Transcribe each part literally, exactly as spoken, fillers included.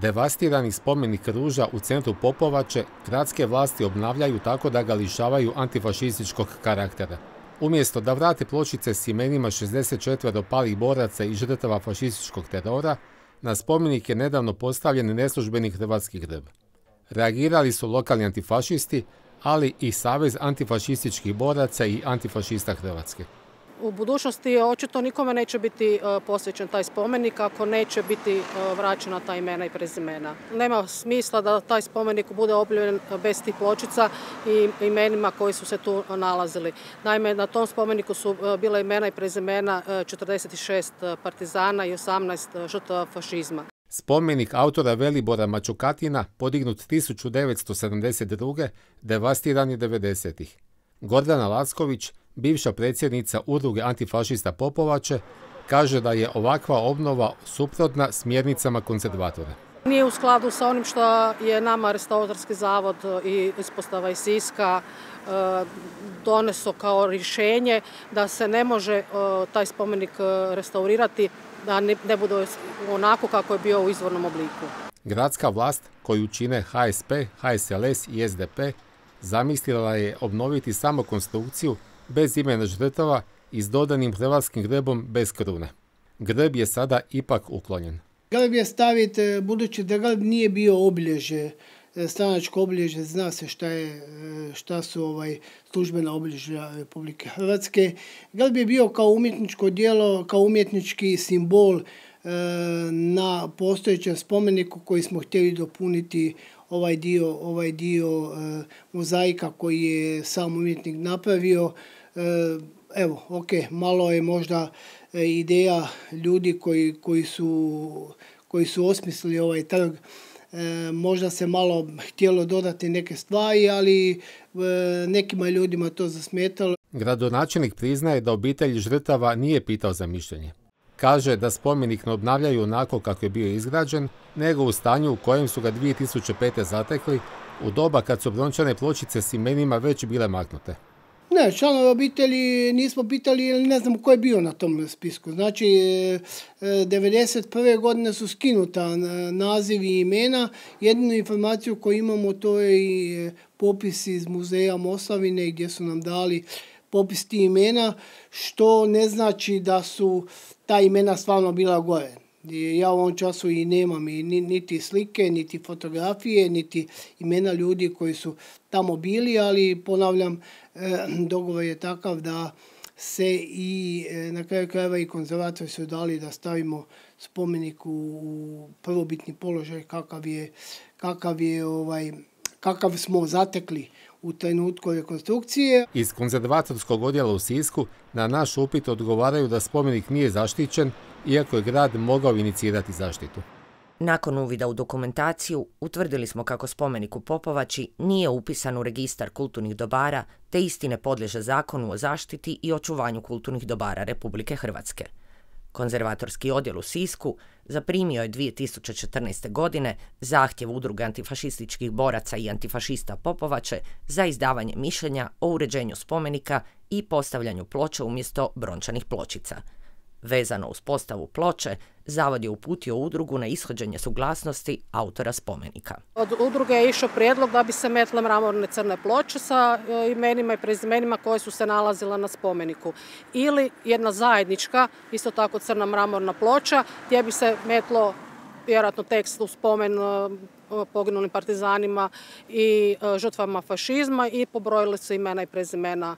Devastirani spomenik ruža u centru Popovače gradske vlasti obnavljaju tako da ga lišavaju antifašističkog karaktera. Umjesto da vrate pločice s imenima šezdeset četvero palih boraca i žrtava fašističkog terora, na spomenik je nedavno postavljen neslužbeni hrvatski grb. Reagirali su lokalni antifašisti, ali i Savez antifašističkih boraca i antifašista Hrvatske. U budućnosti očito nikome neće biti posvećen taj spomenik ako neće biti vraćena ta imena i prezimena. Nema smisla da taj spomenik bude obilježen bez tih pločica i imenima koji su se tu nalazili. Naime, na tom spomeniku su bile imena i prezimena četrdeset šest partizana i osamnaest žrtava fašizma. Spomenik autora Velibora Mačukatina, podignut tisuću devetsto sedamdeset druge devastiran je devedesetih. Gordana Lacković, bivša predsjednica udruge antifašista Popovače, kaže da je ovakva obnova suprotna smjernicama konzervatora. Nije u skladu sa onim što je nama Restauratorski zavod i ispostava iz Siska doneso kao rješenje da se ne može taj spomenik restaurirati, da ne bude onako kako je bio u izvornom obliku. Gradska vlast, koju čine H S P, H S L S i S D P, zamislila je obnoviti samo konstrukciju bez imena žrtava i s dodanim hrvatskim grbom bez krune. Grb je sada ipak uklonjen. Grb je staviti, budući da grb nije bio obilježje, stranačko obilježje, zna se šta, je, šta su ovaj, službena obilježja Republike Hrvatske. Grb je bio kao umjetničko djelo, kao umjetnički simbol na postojećem spomeniku koji smo htjeli dopuniti ovaj dio, ovaj dio mozaika koji je sam umjetnik napravio. Evo, ok, malo je možda ideja ljudi koji, koji, su, koji su osmislili ovaj trg. Možda se malo htjelo dodati neke stvari, ali nekima ljudima to zasmetalo. Gradonačelnik priznaje da obitelj žrtava nije pitao za mišljenje. Kaže da spomenik ne obnavljaju onako kako je bio izgrađen, nego u stanju u kojem su ga dvije tisuće pete zatekli, u doba kad su brončane pločice s imenima već bile maknute. Ne, članove obitelji nismo pitali jer ne znamo ko je bio na tom spisku. Znači, devedeset prve godine su skinuta nazivi i imena. Jedinu informaciju koju imamo to je i popis iz muzeja Moslavine gdje su nam dali popis tih imena, što ne znači da su ta imena stvarno bila gore. Ja u ovom času i nemam i niti slike, niti fotografije, niti imena ljudi koji su tamo bili, ali ponavljam, dogovor je takav da se i na kraju krajeva i konzervatori su dali da stavimo spomenik u prvobitni položaj kakav je, kakav je ovaj, kakav smo zatekli u trenutku rekonstrukcije. Iz konzervatorskog odjela u Sisku na naš upit odgovaraju da spomenik nije zaštićen, iako je grad mogao inicirati zaštitu. Nakon uvida u dokumentaciju, utvrdili smo kako spomenik u Popovači nije upisan u registar kulturnih dobara, te isti ne podliježe zakonu o zaštiti i očuvanju kulturnih dobara Republike Hrvatske. Konzervatorski odjel u Sisku zaprimio je dvije tisuće četrnaeste. godine zahtjev udruge antifašističkih boraca i antifašista Popovače za izdavanje mišljenja o uređenju spomenika i postavljanju ploče umjesto brončanih pločica. Vezano uz postavu ploče, zavod je uputio udrugu na ishođenje suglasnosti autora spomenika. Od udruge je išao prijedlog da bi se metle mramorne crne ploče sa imenima i prezimenima koje su se nalazile na spomeniku. Ili jedna zajednička, isto tako crna mramorna ploča, gdje bi se metlo vjerojatno tekst u spomen poginulim partizanima i žrtvama fašizma i pobrojili se imena i prezimena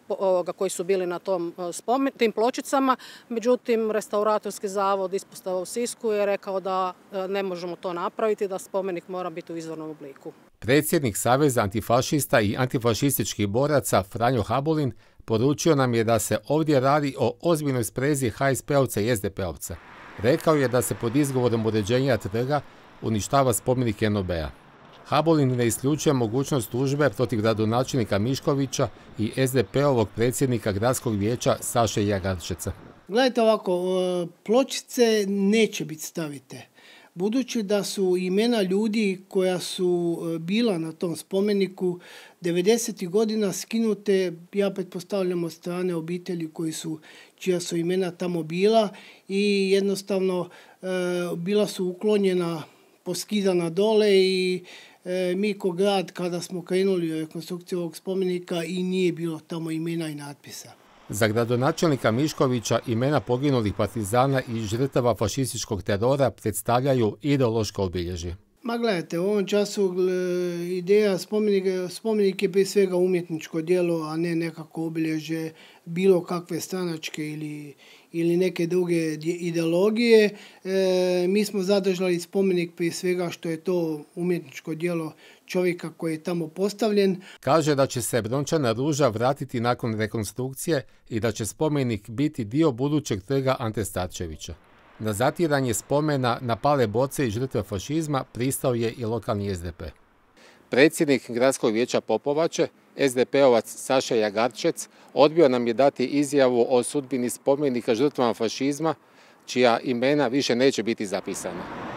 ovoga koji su bili na tom spomen, tim pločicama. Međutim, Restauratorski zavod ispostava u Sisku je rekao da ne možemo to napraviti, da spomenik mora biti u izvornom obliku. Predsjednik Saveza antifašista i antifašističkih boraca Franjo Habulin poručio nam je da se ovdje radi o ozbiljnoj sprezi H S P-ovca i S D P-ovca. Rekao je da se pod izgovorom uređenja trga uništava spomenik N O B-a. Habulin ne isključuje mogućnost tužbe protiv gradonačelnika Miškovića i S D P-ovog predsjednika gradskog vijeća Saše Jagarčeca. Gledajte ovako, pločice neće biti stavite. budući da su imena ljudi koja su bila na tom spomeniku devedesetih godina skinute, ja pretpostavljam od strane obitelji koji su, čija su imena tamo bila i jednostavno e, bila su uklonjena, poskidana dole i e, mi ko grad kada smo krenuli u rekonstrukciju ovog spomenika i nije bilo tamo imena i natpisa. Za gradonačelnika Miškovića imena poginulih partizana i žrtava fašističkog terora predstavljaju ideološko obilježje. Ma gledajte, u ovom času ideja spomenika, spomenik je prije svega umjetničko djelo, a ne nekako obilježje bilo kakve stranačke ili, ili neke druge ideologije. E, mi smo zadržali spomenik prije svega što je to umjetničko djelo čovjeka koji je tamo postavljen. Kaže da će se brončana ruža vratiti nakon rekonstrukcije i da će spomenik biti dio budućeg trga Ante Starčevića. Na zatiranje spomena na pale boce i žrtve fašizma pristao je i lokalni es de pe. Predsjednik Gradskog vijeća Popovače, es de pe-ovac Saša Jagarčec, odbio nam je dati izjavu o sudbini spomenika žrtvama fašizma, čija imena više neće biti zapisana.